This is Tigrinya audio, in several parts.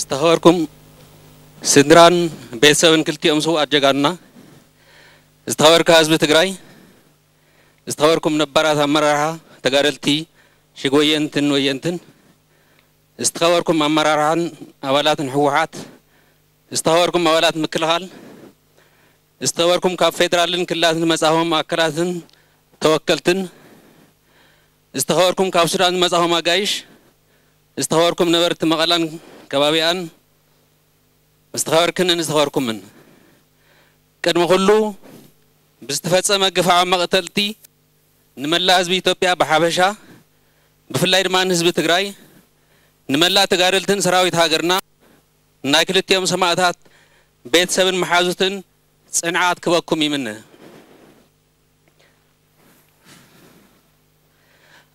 ዝተኸበርኩም ስድራን ቤተሰብን ክልቲኦም ስውኣት ጀጋኑና፣ ዝተኸበርካ ህዝቢ ትግራይ፣ ዝተኸበርኩም ነባራት ኣመራርሓ ተጋደልቲ ሽግ ወየንትን ወየንትን፣ ዝተኸበርኩም ኣመራርሓን ኣባላትን ህወሓት፣ ዝተኸበርኩም ኣባላት ምክልኻል፣ ዝተኸበርኩም ካብ ፌደራልን ክልላትን ዝመጻኹም ኣካላትን ተወከልትን፣ ዝተኸበርኩም ካብ ሱዳን ዝመጻኹም ኣጋይሽ፣ ዝተኸበርኩም ነበርቲ መቐላን ከባቢኣን፣ ዝተኸበርክንን ዝተኸበርኩምን፣ ቅድሚ ኩሉ ብዝተፈጸመ ግፍዓዊ መቕተልቲ ንመላእ ህዝቢ ኢትዮጵያ ብሓፈሻ፣ ብፍላይ ድማ ንህዝቢ ትግራይ፣ ንመላእ ተጋደልትን ሰራዊት ሃገርና፣ ናይ ክልቲኦም ሰማእታት ቤተሰብን መሓዙትን ጽንዓት ክበኩም ይምነ።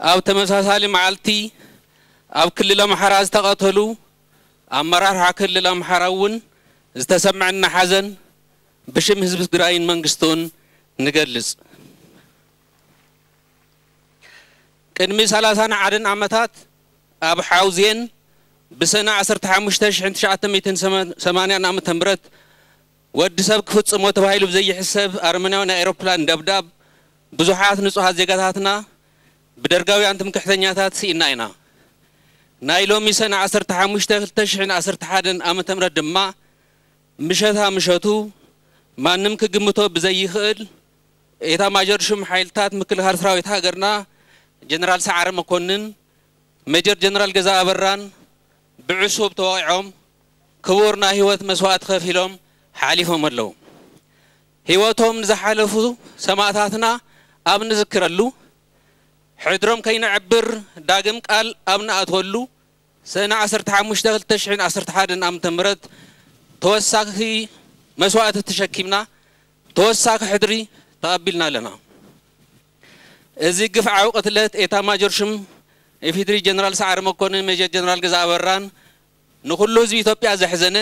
ኣብ ተመሳሳሊ መዓልቲ ኣብ ክልል ኣምሓራ ዝተቐተሉ ኣመራርሓ ክልል ኣምሓራ እውን ዝተሰምዐና ሓዘን ብሽም ህዝቢ ትግራይን መንግስቱን ንገልጽ። ቅድሚ ሰላሳን ሓደን ዓመታት ኣብ ሓውዜን ብሰነ ዓሰርተ ሓሙሽተ ሽሕን ትሽዓተ ሚእትን ሰማንያን ዓመተ ምህረት ወዲ ሰብ ክፍጽሞ ተባሂሉ ብዘይሕሰብ ኣረመናዊ ናይ ኤሮፕላን ደብዳብ ብዙሓት ንጹሃት ዜጋታትና ብደርጋውያን ትምክሕተኛታት ስኢና ኢና። ናይ ሎሚ ሰነ ዓሰርተ ሓሙሽተ ክልተ ሽሕን ዓሰርተ ሓደን ዓመተ ምህረት ድማ ምሸታ ምሸቱ ማንም ክግምቶ ብዘይኽእል ኤታ ማጆር ሹም ሓይልታት ምክልኻል ሰራዊት ሃገርና ጀነራል ሰዓረ መኮንን፣ ሜጀር ጀነራል ገዛ ኣበራን ብዕሱብ ተወቒዖም ክቡር ናይ ህይወት መስዋእቲ ከፊሎም ሓሊፎም ኣለዉ። ህይወቶም ንዝሓለፉ ሰማእታትና ኣብ ንዝክረሉ፣ ሕድሮም ከይነዕብር ዳግም ቃል ኣብ ንኣትወሉ፣ ሰነ ዓሰርተ ሓሙሽተ ክልተ ሽሕን ዓሰርተ ሓደን ዓመተ ምህረት ተወሳኺ መስዋእቲ ተሸኪምና ተወሳኺ ሕድሪ ተቐቢልና ኣለና። እዚ ግፍዓዊ ቅትለት ኤታ ማጆር ሹም ኢፌድሪ ጀነራል ሰዓረ መኮንን፣ ሜጀር ጀነራል ገዛ ኣበራን ንኹሉ ህዝቢ ኢትዮጵያ ዘሕዘነ፣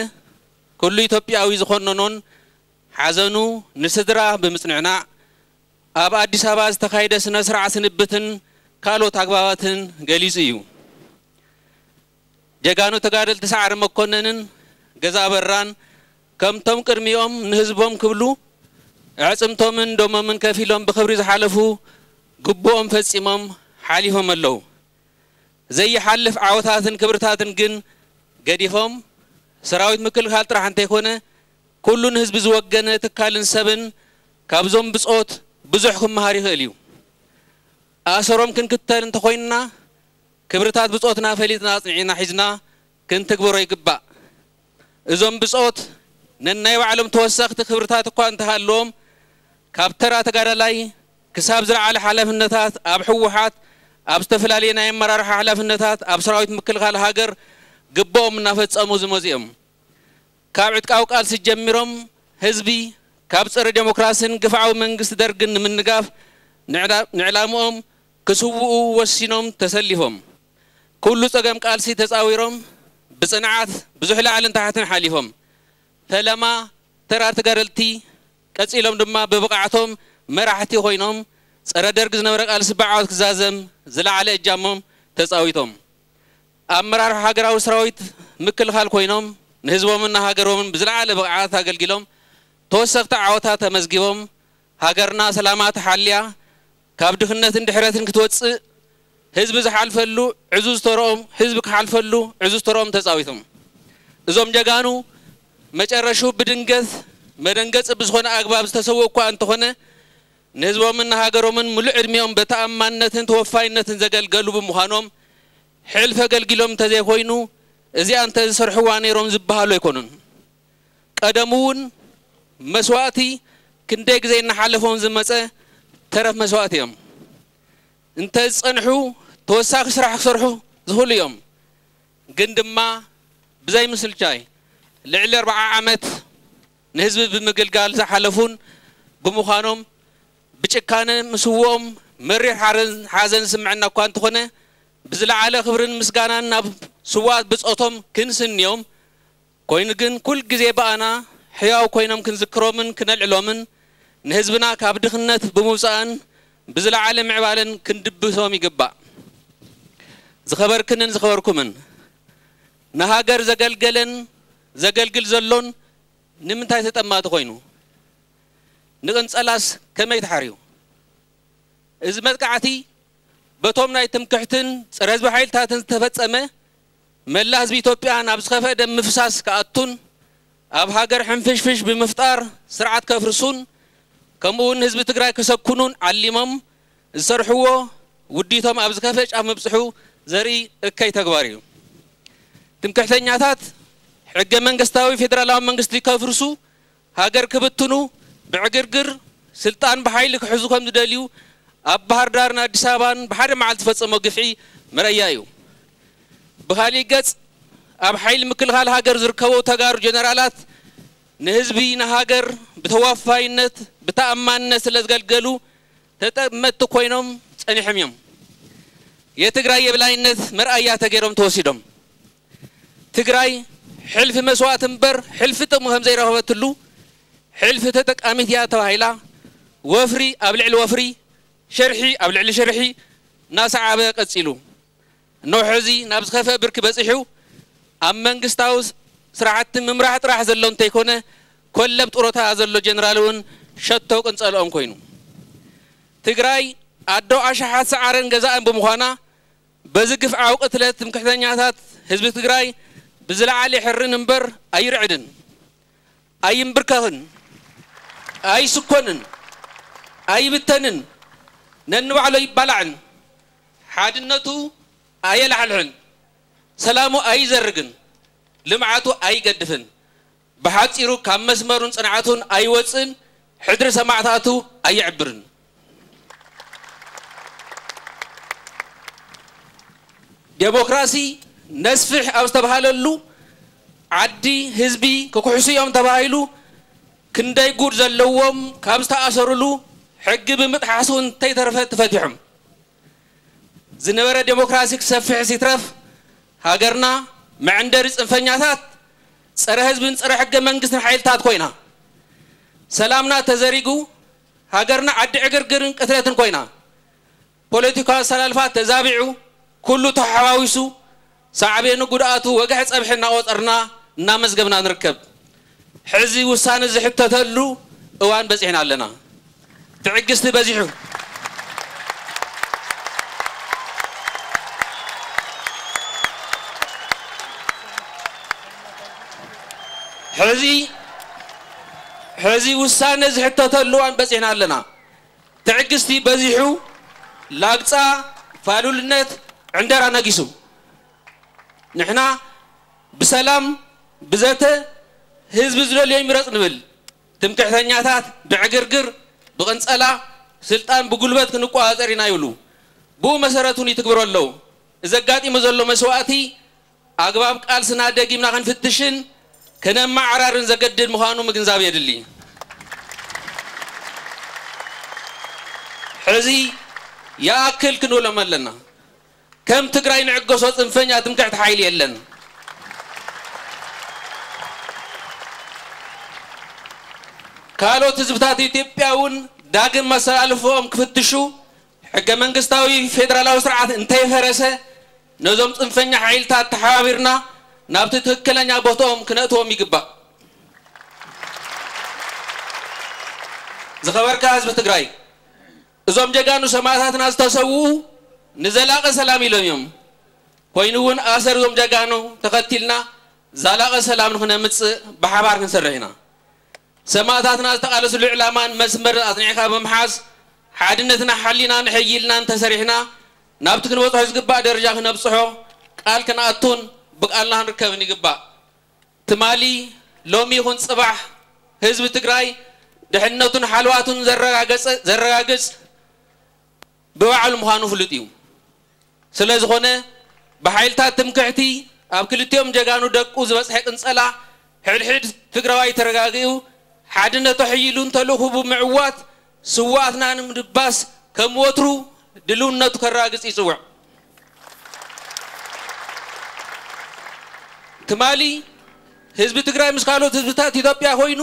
ኩሉ ኢትዮጵያዊ ዝኾነኖን ሓዘኑ ንስድራ ብምጽንዕናዕ ኣብ ኣዲስ ኣበባ ዝተኻየደ ስነ ስርዓት ስንብትን ካልኦት ኣግባባትን ገሊጹ እዩ። ጀጋኑ ተጋደልቲ ሰዓረ መኮነንን ገዛ ኣበራን ከምቶም ቅድሚኦም ንህዝቦም ክብሉ ኣዕጽምቶምን ደሞምን ከፊሎም ብኽብሪ ዝሓለፉ ግቡኦም ፈጺሞም ሓሊፎም ኣለዉ። ዘይሓልፍ ዓወታትን ክብርታትን ግን ገዲፎም ሰራዊት ምክልኻል ጥራሕ እንተይኮነ ኩሉ ንህዝቢ ዝወገነ ትካልን ሰብን ካብዞም ብጾት ብዙሕ ክመሃር ይኽእል እዩ። ኣሰሮም ክንክተል እንተኾይንና ክብርታት ብጾትና ፈሊጥና ኣጽኒዕና ሒዝና ክንትግብሮ ይግባእ። እዞም ብጾት ነናይ ባዕሎም ተወሰኽቲ ክብርታት እኳ እንተሃለዎም ካብ ተራ ተጋዳላይ ክሳብ ዝለዓለ ሓላፍነታት ኣብ ህወሓት ኣብ ዝተፈላለየ ናይ ኣመራርሓ ሓላፍነታት ኣብ ሰራዊት ምክልኻል ሃገር ግብኦም እናፈጸሙ ዝመጹ እዮም። ካብ ዕጥቃዊ ቃልሲ ጀሚሮም ህዝቢ ካብ ጸረ ዴሞክራስን ግፍዓዊ መንግስቲ ደርግን ንምንጋፍ ንዕላ- ንዕላምኦም ክስውኡ ወሲኖም ተሰሊፎም ኩሉ ጸገም ቃልሲ ተጻዊሮም ብጽንዓት ብዙሕ ላዕልን ታሕትን ሓሊፎም ፈለማ ተራ ተጋደልቲ ቀጺሎም ድማ ብብቕዓቶም መራሕቲ ኮይኖም ጸረ ደርግ ዝነበረ ቃልሲ ብዓወት ክዛዘም ዝለዓለ እጃሞም ተጻዊቶም። ኣመራርሓ ሃገራዊ ሰራዊት ምክልኻል ኮይኖም ንህዝቦምን ንሃገሮምን ብዝለዓለ ብቕዓት ኣገልጊሎም ተወሰኽቲ ዓወታት ተመዝጊቦም ሃገርና ሰላማ ተሓልያ ካብ ድኽነትን ድሕረትን ክትወጽእ ህዝቢ ዝሓልፈሉ ዕዙዝ ተረኦም ህዝቢ ክሓልፈሉ ዕዙዝ ተረኦም ተጻዊቶም። እዞም ጀጋኑ መጨረሹ ብድንገት መደንገጺ ብዝኾነ ኣግባብ ዝተሰውኡ እኳ እንተኾነ ንህዝቦምን ንሃገሮምን ሙሉእ ዕድሚኦም ብተኣማንነትን ተወፋይነትን ዘገልገሉ ብምዃኖም ሕልፊ ኣገልጊሎም እንተዘይኮይኑ እዚኣ እንተዝሰርሕዋ ነይሮም ዝበሃሉ ኣይኮኑን። ቀደሙ እውን መስዋእቲ ክንደይ ግዜ እናሓለፎም ዝመፀ ተረፍ መስዋእቲ እዮም። እንተዝፀንሑ ተወሳኺ ስራሕ ክሰርሑ ዝኽእሉ እዮም። ግን ድማ ብዘይ ምስልቻይ ልዕሊ ኣርብዓ ዓመት ንህዝቢ ብምግልጋል ዝሓለፉን ብምዃኖም ብጭካነ ምስውኦም መሪር ሓረን- ሓዘን ዝስምዐና እኳ እንተኾነ ብዝለዓለ ክብርን ምስጋናን ናብ ስውኣት ብጾቶም ክንስንዮም ኮይኑ ግን ኩል ግዜ ብኣና ሕያው ኮይኖም ክንዝክሮምን ክነልዕሎምን ንህዝብና ካብ ድኽነት ብምውፃእን ብዝለዓለ ምዕባለን ክንድብሶም ይግባእ። ዝኸበርክንን ዝኸበርኩምን ንሃገር ዘገልገለን ዘገልግል ዘሎን ንምንታይ ተጠማቲ ኮይኑ? ንቕንጸላስ ከመይ ተሓርዩ? እዚ መጥቃዕቲ በቶም ናይ ትምክሕትን ጸረ ህዝቢ ሓይልታትን ዝተፈጸመ፣ መላእ ህዝቢ ኢትዮጵያ ናብ ዝኸፍአ ደም ምፍሳስ ክኣቱን ኣብ ሃገር ሕንፍሽፍሽ ብምፍጣር ስርዓት ከፍርሱን ከምኡ እውን ህዝቢ ትግራይ ከሰኩኑን ዓሊሞም ዝሰርሕዎ ውዲቶም ኣብ ዝኸፍአ ጫፍ ምብጽሑ ዘርኢ እከይ ተግባር እዩ። ትምክሕተኛታት ሕገ መንግስታዊ ፌደራላዊ መንግስቲ ከፍርሱ፣ ሃገር ክብትኑ፣ ብዕግርግር ስልጣን ብሓይሊ ክሕዙ ከም ዝደልዩ ኣብ ባህር ዳርን ኣዲስ ኣበባን ብሓደ መዓልቲ ዝፈጸሞ ግፍዒ መረያ እዩ። ብኻሊእ ገጽ፣ ኣብ ሓይሊ ምክልኻል ሃገር ዝርከቡ ተጋሩ ጀነራላት ንህዝቢ ንሃገር ብተወፋይነት ብተኣማንነት ስለ ዘገልገሉ ተጠመትቲ ኮይኖም ጸኒሖም እዮም። የትግራይ የብላይነት መርኣያ ተገይሮም ተወሲዶም። ትግራይ ሕልፊ መስዋእቲ እምበር ሕልፊ ጥቕሚ ከም ዘይረኸበትሉ፣ ሕልፊ ተጠቃሚት እያ ተባሂላ፣ ወፍሪ ኣብ ልዕሊ ወፍሪ፣ ሽርሒ ኣብ ልዕሊ ሽርሒ እናሰዓበ ቀጺሉ። እነሆ ሕዚ ናብ ዝኸፍአ ብርኪ በጺሑ፣ ኣብ መንግስታዊ ስራሕቲ ምምራሕ ጥራሕ ዘሎ እንተይኮነ፣ ኮለብ ጡረታ ዘሎ ጀነራል እውን ሸቶ ቅንጸልኦም ኮይኑ። ትግራይ ኣዶ ኣሽሓት ሰዓረን ገዛእን ብምዃና፣ በዚ ግፍዓዊ ቅትለት ትምክሕተኛታት ህዝቢ ትግራይ ብዝለዓለ ይሕርን እምበር ኣይርዕድን፣ ኣይንብርከኽን፣ ኣይስኮንን፣ ኣይብተንን፣ ነንባዕሉ ኣይባላዕን፣ ሓድነቱ ኣየላሕልሕን፣ ሰላሙ ኣይዘርግን፣ ልምዓቱ ኣይገድፍን። ብሓጺሩ ካብ መስመሩን ጽንዓቱን ኣይወጽእን፣ ሕድሪ ሰማዕታቱ ኣይዕብርን። ዴሞክራሲ ነስፍሕ ኣብ ዝተባህለሉ ዓዲ ህዝቢ ክኩሕሱ እዮም ተባሂሉ ክንደይ ጉድ ዘለዎም ካብ ዝተኣሰሩሉ ሕጊ ብምጥሓሱ እንተይተረፈ ተፈቲሖም። ዝነበረ ዴሞክራሲ ክሰፍሕስ ይትረፍ ሃገርና መዕንደሪ ጽንፈኛታት፣ ጸረ ህዝብን ጸረ ሕገ መንግስትን ሓይልታት ኮይና፣ ሰላምና ተዘሪጉ ሃገርና ዓዲ ዕግርግርን ቅትለትን ኮይና፣ ፖለቲካዊ ኣሰላልፋ ተዛቢዑ ኩሉ ተሓዋዊሱ ሳዕቤኑ ጉድኣቱ ወግሐ ጸብሒ እናቖጸርና እናመዝገብና ንርከብ። ሕዚ ውሳነ ዝሕተተሉ እዋን በጺሕና ኣለና። ትዕግስቲ በዚሑ። ሕዚ ሕዚ ውሳነ ዝሕተተሉ እዋን በጺሕና ኣለና። ትዕግስቲ በዚሑ፣ ላግጻ፣ ፋሉልነት፣ ዕንደራ ነጊሱ። ንሕና ብሰላም ብዘተ ህዝቢ ዝደልዮ ይምረጽ ንብል። ትምክሕተኛታት ብዕግርግር ብቕንጸላ ስልጣን ብጉልበት ክንቆጻጸር ኢና ይብሉ። ብኡ መሰረት እውን ይትግብሩ ኣለዉ። እዚ ኣጋጢሙ ዘሎ መስዋእቲ ኣግባብ ቃልስና ደጊምና ክንፍትሽን ከነመዓራርን ዘገድድ ምዃኑ ምግንዛብ የድሊ። ሕዚ ይኣክል ክንብሎም ኣለና። ከም ትግራይ ንዕገሶ ጽንፈኛ ትምክሕቲ ሓይሊ የለን። ካልኦት ህዝብታት ኢትዮጵያ እውን ዳግም መሰላልፎኦም ክፍትሹ፣ ሕገ መንግስታዊ ፌደራላዊ ስርዓት እንተይፈረሰ፣ ነዞም ጽንፈኛ ሓይልታት ተሓባቢርና ናብቲ ትክክለኛ ቦትኦም ክነእትዎም ይግባእ። ዝኸበርካ ህዝቢ ትግራይ፣ እዞም ጀጋኑ ሰማእታትና ዝተሰውኡ ንዘላቂ ሰላም ኢሎም እዮም። ኮይኑ እውን ኣሰር እዞም ጀጋኑ ተኸቲልና ዘላቂ ሰላም ንክነምፅእ ብሓባር ክንሰርሕ ኢና። ሰማእታትና ዝተቓለስሉ ዕላማን መስመርን ኣፅኒዕካ ብምሓዝ፣ ሓድነትና ሓሊና ንሕይልና እንተሰሪሕና፣ ናብቲ ክንበፅሖ ዝግባእ ደረጃ ክነብፅሖ ቃል ክንኣቱን ብቃልና ክንርከብን ይግባእ። ትማሊ፣ ሎሚ ይኹን ፅባሕ ህዝቢ ትግራይ ድሕነቱን ሓልዋቱን ዘረጋገፀ-፣ ዘረጋግፅ ብባዕሉ ምዃኑ ፍሉጥ እዩ። ስለ ዝኾነ፣ ብሓይልታት ትምክሕቲ ኣብ ክልቲኦም ጀጋኑ ደቁ ዝበፅሐ ቅንፀላ፣ ሕድሕድ ትግራዋይ ተረጋጊኡ፣ ሓድነቱ ኣሕይሉን ተልእኹ ብምዕዋት ስውኣትና ንምድባስ ከም ወትሩ ድልውነቱ ከረጋግፅ ይፅውዕ። ትማሊ ህዝቢ ትግራይ ምስ ካልኦት ህዝብታት ኢትዮጵያ ኮይኑ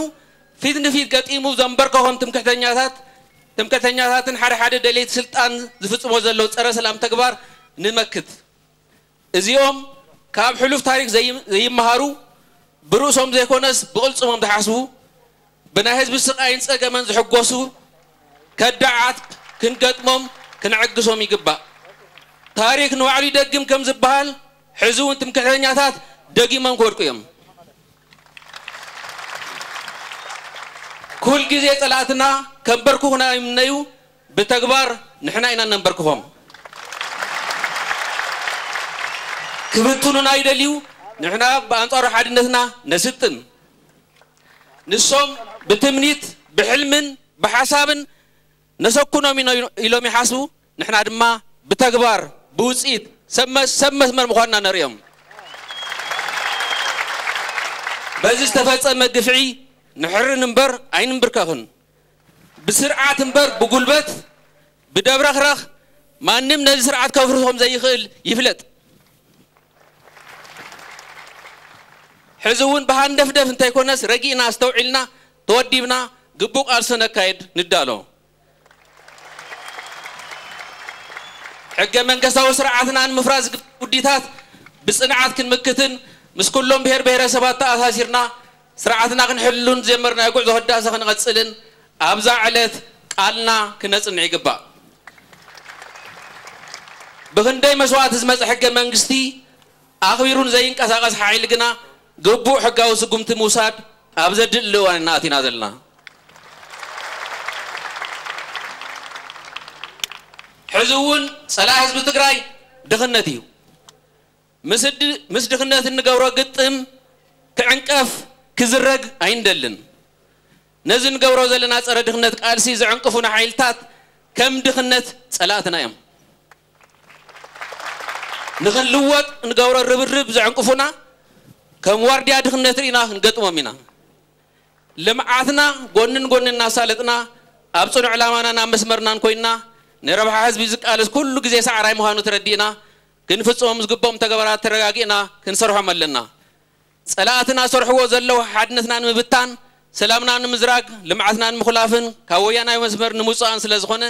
ፊት ንፊት ገጢሙ ዘንበርከኾም ትምክሕተኛታት፣ ትምክሕተኛታትን ሓደ ሓደ ደለይቲ ስልጣን ዝፍጽሞ ዘለዉ ጸረ ሰላም ተግባር ንመክት። እዚኦም ካብ ሕሉፍ ታሪክ ዘይም- ዘይመሃሩ፣ ብርእሶም ዘይኮነስ ብቕልጽሞም ዝሓስቡ፣ ብናይ ህዝቢ ስቓይን ጸገመን ዝሕጎሱ ከዳዓት ክንገጥሞም ክንዕግሶም ይግባእ። ታሪክ ንባዕሉ ይደግም ከም ዝበሃል፣ ሕዚ እውን ትምክሕተኛታት ደጊሞም ክወድቁ እዮም። ኩል ግዜ ጸላእትና ከንበርክኹና ይምነዩ፣ ብተግባር ንሕና ኢና ነንበርክኾም። ክብትኑና ይደልዩ፣ ንሕና ብኣንጻሩ ሓድነትና ነስጥም። ንሶም ብትምኒት፣ ብሕልምን ብሓሳብን ነሰኩኖም ኢና ኢሎም ይሓስቡ። ንሕና ድማ ብተግባር፣ ብውፅኢት ሰብ መ- ሰብ መስመር ምዃንና ነርእዮም። በዚ ዝተፈጸመ ግፍዒ ንሕርን እምበር ኣይንንብርከኽን። ብስርዓት እምበር ብጉልበት፣ ብደብረኽረኽ ማንም ነዚ ስርዓት ከፍርሶም ዘይኽእል ይፍለጥ። ሕዚ እውን ብሃንደፍደፍ እንተይኮነስ ረጊእና ኣስተውዒልና ተወዲብና ግቡእ ቃልሲ ነካየድ ንዳሎ። ሕገ መንግስታዊ ስርዓትና ንምፍራስ ዝግበር ውዲታት ብጽንዓት ክንምክትን ምስ ኩሎም ብሔር ብሔረሰባት ተኣሳሲርና ስርዓትና ክንሕሉን ዝጀመርናዮ ጉዕዞ ህዳሰ ክንቐጽልን ኣብዛ ዕለት ቃልና ክነጽንዕ ይግባእ። ብኽንደይ መስዋእቲ ዝመጸ ሕገ መንግስቲ ኣኽቢሩን ዘይንቀሳቐስ ሓይሊ ግና ግቡእ ሕጋዊ ስጉምቲ ምውሳድ ኣብ ዘድሊ እዋን ኢና ኣቲና ዘለና። ሕዚ እውን ጸላኢ ህዝቢ ትግራይ ድኽነት እዩ። ምስ ድ- ምስ ድኽነት እንገብሮ ግጥም ክዕንቀፍ ክዝረግ ኣይንደልን። ነዚ ንገብሮ ዘለና ጸረ ድኽነት ቃልሲ ዘዕንቅፉና ሓይልታት ከም ድኽነት ጸላእትና እዮም። ንኽንልወጥ ንገብሮ ርብርብ ዘዕንቅፉና ከም ዋርድያ ድኽነት ርኢና ክንገጥሞም ኢና። ልምዓትና ጎንን ጎንን እናሳለጥና ኣብ ጽኑዕ ዕላማናን ኣብ መስመርናን ኮይንና ንረብሓ ህዝቢ ዝቃለስ ኩሉ ግዜ ሰዓራይ ምዃኑ ተረዲእና ክንፍጽሞም ዝግብኦም ተግባራት ተረጋጊእና ክንሰርሖም ኣለና። ጸላእትና ሰርሕዎ ዘለዉ ሓድነትና ንምብታን፣ ሰላምና ንምዝራግ፣ ልምዓትና ንምኹላፍን ካብ ወያናዊ መስመር ንምውጻእን ስለ ዝኾነ፣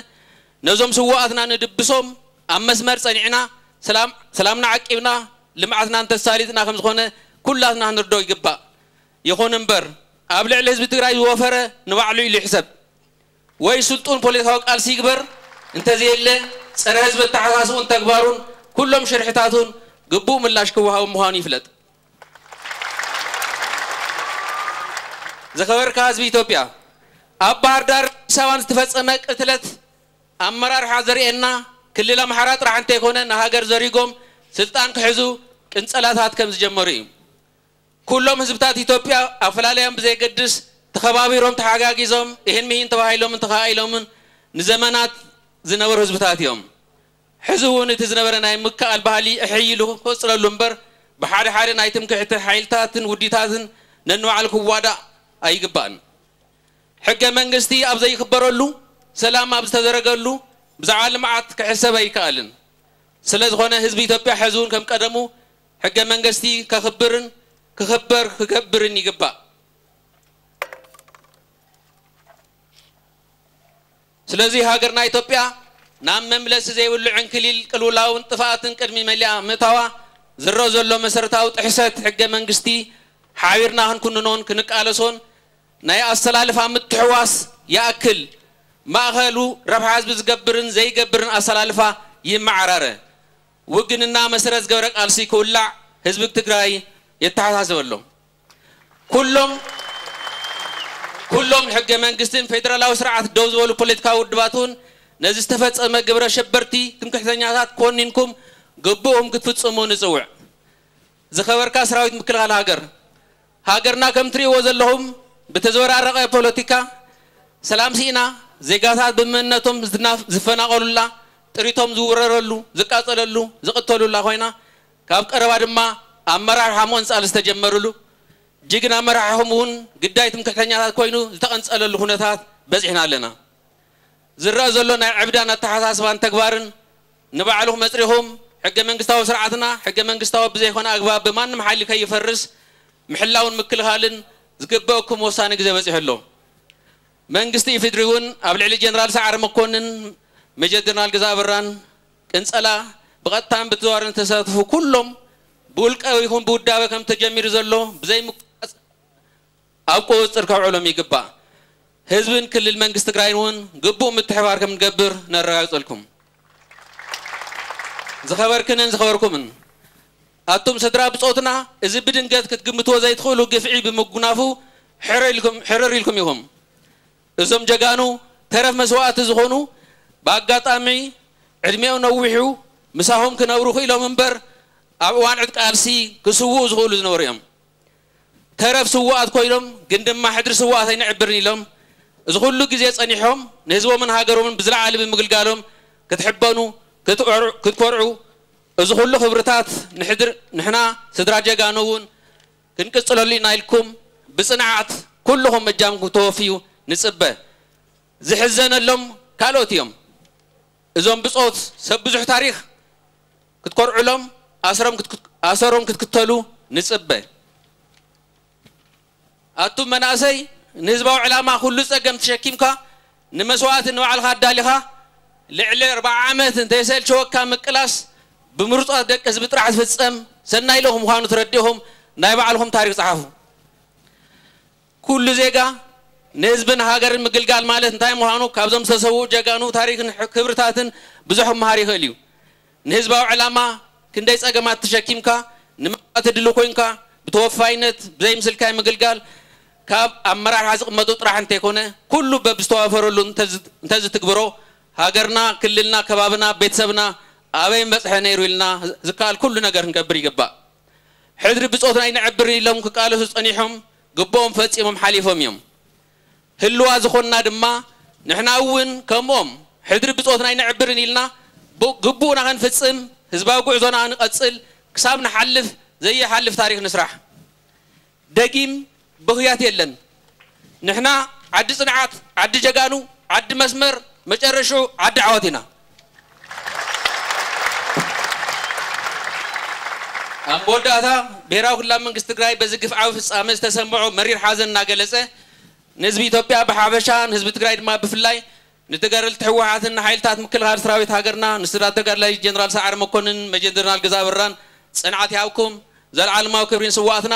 ነዞም ስዉኣትና ንድብሶም ኣብ መስመር ጸኒዕና ሰላም- ሰላምና ዓቂብና ልምዓትና እንተሳሊጥና ከም ዝኾነ ኩላትና ክንርድኦ ይግባእ። ይኹን እምበር ኣብ ልዕሊ ህዝቢ ትግራይ ዝወፈረ ንባዕሉ ኢሉ ይሕሰብ ወይ ስልጡን ፖለቲካዊ ቃልሲ ይግበር፣ እንተዘየለ ጸረ ህዝቢ ኣተሓሳስቡን ተግባሩን ኩሎም ሽርሕታቱን ግቡእ ምላሽ ክወሃቦም ምዃኑ ይፍለጥ። ዝኸበርካ ህዝቢ ኢትዮጵያ፣ ኣብ ባህር ዳር ኣዲስ ኣበባን ዝተፈጸመ ቅትለት ኣመራርሓ ዘርእየና ክልል ኣምሓራ ጥራሕ እንተይኮነ ንሃገር ዘሪጎም ስልጣን ክሕዙ ቅንጸላታት ከም ዝጀመሩ እዩ። ኩሎም ህዝብታት ኢትዮጵያ ኣፈላላዮም ብዘየገድስ ተኸባቢሮም ተሓጋጊዞም እህን ምሂን ተባሂሎምን ተኻኢሎምን ንዘመናት ዝነበሩ ህዝብታት እዮም። ሕዚ እውን እቲ ዝነበረ ናይ ምክኣል ባህሊ እሕይ ኢሉ ክቕፅለሉ እምበር ብሓደ ሓደ ናይ ትምክሕቲ ሓይልታትን ውዲታትን ነንባዕሉ ክዋዳእ ኣይግባእን። ሕገ መንግስቲ ኣብ ዘይክበረሉ፣ ሰላም ኣብ ዝተዘረገሉ ብዛዕባ ልምዓት ክሕሰብ ኣይከኣልን። ስለ ዝኾነ ህዝቢ ኢትዮጵያ ሕዚ እውን ከም ቀደሙ ሕገ መንግስቲ ከኽብርን ክኽበር ክገብርን ይግባእ። ስለዚ ሃገርና ኢትዮጵያ ናብ መምለሲ ዘይብሉ ዕንክሊል ቅልውላውን ጥፍኣትን ቅድሚ መሊኣ ምእታዋ ዝረአ ዘሎ መሰረታዊ ጥሕሰት ሕገ መንግስቲ ሓቢርና ክንኩንኖን ክንቃለሶን ናይ ኣሰላልፋ ምትሕዋስ ይኣክል ማእኸሉ ረብሓ ህዝቢ ዝገብርን ዘይገብርን ኣሰላልፋ ይመዓራረ። ውግንና መሰረት ዝገበረ ቃልሲ ክውላዕ ህዝቢ ትግራይ የተሓሳስበሎም። ኩሎም ኩሎም ንሕገ መንግስትን ፌደራላዊ ስርዓት ደው ዝበሉ ፖለቲካዊ ውድባት እውን ነዚ ዝተፈጸመ ግብረ ሸበርቲ ትምክሕተኛታት ኮኒንኩም ግቡእኩም ክትፍጽሙ ንጽውዕ። ዝኸበርካ ሰራዊት ምክልኻል ሃገር፣ ሃገርና ከም ትርእይዎ ዘለኹም ብተዘበራረቐ ፖለቲካ ሰላም ስኢና፣ ዜጋታት ብምንነቶም ዝናፍ- ዝፈናቐሉላ፣ ጥሪቶም ዝውረረሉ፣ ዝቃጸለሉ፣ ዝቕተሉላ ኮይና፣ ካብ ቀረባ ድማ ኣመራርሓ ምቕንጻል ዝተጀመሩሉ፣ ጅግና መራሕኹም እውን ግዳይ ትምክሕተኛታት ኮይኑ ዝተቐንጸለሉ ኩነታት በጺሕና ኣለና። ዝረኣ ዘሎ ናይ ዕብዳን ኣተሓሳስባን ተግባርን ንባዕልኹም መጽሪኹም ሕገ መንግስታዊ ስርዓትና ሕገ መንግስታዊ ብዘይኮነ ኣግባብ ብማንም ሓይሊ ከይፈርስ ምሕላውን ምክልኻልን ዝግበእኩም ወሳኒ ግዜ በጺሑ ኣሎ። መንግስቲ ኢፌድሪ እውን ኣብ ልዕሊ ጀነራል ሰዓረ መኮንን፣ ሜጀር ጀነራል ግዛእ ኣበራን ቅንጸላ ብቐጥታን ብተዘዋዋርን ዝተሳተፉ ኩሎም ብውልቀ ይኹን ብውዳበ ከም ተጀሚሩ ዘሎ ብዘይ ምቁራፅ ኣብ ቁፅፅር ከውዕሎም ይግባእ። ህዝብን ክልል መንግስቲ ትግራይን እውን ግቡእ ምትሕባር ከም ንገብር ነረጋግፀልኩም። ዝኸበርክንን ዝኸበርኩምን ኣቱም ስድራ ብጾትና፣ እዚ ብድንገት ክትግምትዎ ዘይትኽእሉ ግፍዒ ብምጉናፉ ሕረ ኢልኩም ሕርር ኢልኩም ኢኹም። እዞም ጀጋኑ ተረፍ መስዋእቲ ዝኾኑ ብኣጋጣሚ ዕድሜኦም ነዊሑ ምሳኹም ክነብሩ ክኢሎም እምበር ኣብ እዋን ዕጥቂ ቃልሲ ክስውኡ ዝኽእሉ ዝነበሩ እዮም። ተረፍ ስውኣት ኮይኖም ግን ድማ ሕድሪ ስውኣት ኣይንዕብርን ኢሎም እዚ ኩሉ ግዜ ጸኒሖም ንህዝቦምን ሃገሮምን ብዝለዓለ ብምግልጋሎም ክትሕበኑ ክትኮርዑ እዚ ኩሉ ክብርታት ንሕድር ንሕና ስድራ ጀጋኑ እውን ክንቅጽለሉ ኢና ኢልኩም ብጽንዓት ኩልኹም እጃምኩም ተወፍዩ ንጽበ። ዝሕዘነሎም ካልኦት እዮም። እዞም ብጾት ሰብ ብዙሕ ታሪኽ ክትኮርዑሎም ኣሰሮም ክትክተሉ ንጽበ። ኣቱም መናእሰይ ንህዝባዊ ዕላማ ኩሉ ጸገም ተሸኪምካ ንመስዋእቲ ንባዕልኻ ኣዳሊኻ ልዕሊ ኣርብዓ ዓመት እንተይሰልቸወካ ምቅላስ ብምሩጻት ደቂ ህዝቢ ጥራሕ ዝፍጸም ሰናይ ልኡኽ ምዃኑ ተረዲእኹም ናይ ባዕልኹም ታሪኽ ጸሓፉ። ኩሉ ዜጋ ንህዝብን ሃገርን ምግልጋል ማለት እንታይ ምዃኑ ካብዞም ዝተሰውኡ ጀጋኑ ታሪኽን ክብርታትን ብዙሕ ክመሃር ይኽእል እዩ። ንህዝባዊ ዕላማ ክንደይ ጸገማት ተሸኪምካ ንመግባእቲ ድልው ኮይንካ ብተወፋይነት ብዘይ ምስልካይ ምግልጋል ካብ ኣመራርሓ ዝቕመጡ ጥራሕ እንተይኮነ ኩሉ በብዝተዋፈረሉ እንተዝትግብሮ ሃገርና፣ ክልልና፣ ከባብና፣ ቤተሰብና ኣበይ ምበጽሐ ነይሩ ኢልና ዝከኣል ኩሉ ነገር ክንገብር ይግባእ። ሕድሪ ብጾትና ኣይነዕብርን ኢሎም ክቃለሱ ጸኒሖም ግብኦም ፈጺሞም ሓሊፎም እዮም። ህልዋ ዝኾንና ድማ ንሕና እውን ከምኦም ሕድሪ ብጾትና ኣይነዕብርን ኢልና ግቡእና ክንፍጽም ህዝባዊ ጉዕዞና ንቐጽል ክሳብ ንሓልፍ ዘይሓልፍ ታሪኽ ንስራሕ። ደጊም ብኽያት የለን። ንሕና ዓዲ ጽንዓት፣ ዓዲ ጀጋኑ፣ ዓዲ መስመር፣ መጨረሽኡ ዓዲ ዓወት ኢና። ኣብ መወዳእታ ብሄራዊ ክልላዊ መንግስቲ ትግራይ በዚ ግፍዓዊ ፍጻመ ዝተሰምዖ መሪር ሓዘን እናገለጸ ንህዝቢ ኢትዮጵያ ብሓፈሻ ንህዝቢ ትግራይ ድማ ብፍላይ ንተጋደልቲ ህወሓትን ንሓይልታት ምክልኻል ሰራዊት ሃገርና ንስድራ ተጋዳላይ ጀነራል ሰዓረ መኮንን መጀር ጀነራል ገዛ በራን ጽንዓት ይሃብኩም። ዘለዓለማዊ ክብሪ ንስዋኣትና።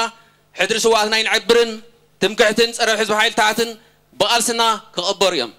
ሕድሪ ስዋኣትና ኣይንዕብርን። ትምክሕትን ጸረ ህዝቢ ሓይልታትን ብቓልስና ክቕበሩ እዮም።